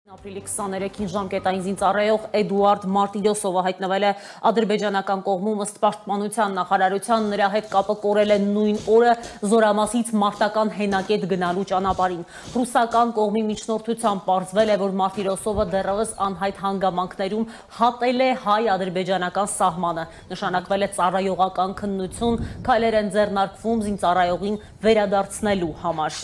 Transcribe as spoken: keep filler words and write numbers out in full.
Ապրիլի քսաներեքին ժամկետային զինծառայող Էդուարդ Մարտիրոսովը հայտնվել է ադրբեջանական կողմում ըստ պաշտպանության նախարարության նրա հետ կապը կորել է նույն օրը Զորամասից մարտական հենակետ գնալու ճանապարհին։ Ռուսական կողմի միջնորդությամբ պարզվել է, որ Մարտիրոսովը դեռևս անհայտ հանգամանքներում հատել է հայ-ադրբեջանական սահմանը։ Նշանակվել է ծառայողական քննություն, քայլեր են ձեռնարկվում զինծառայողին վերադարձնելու համար։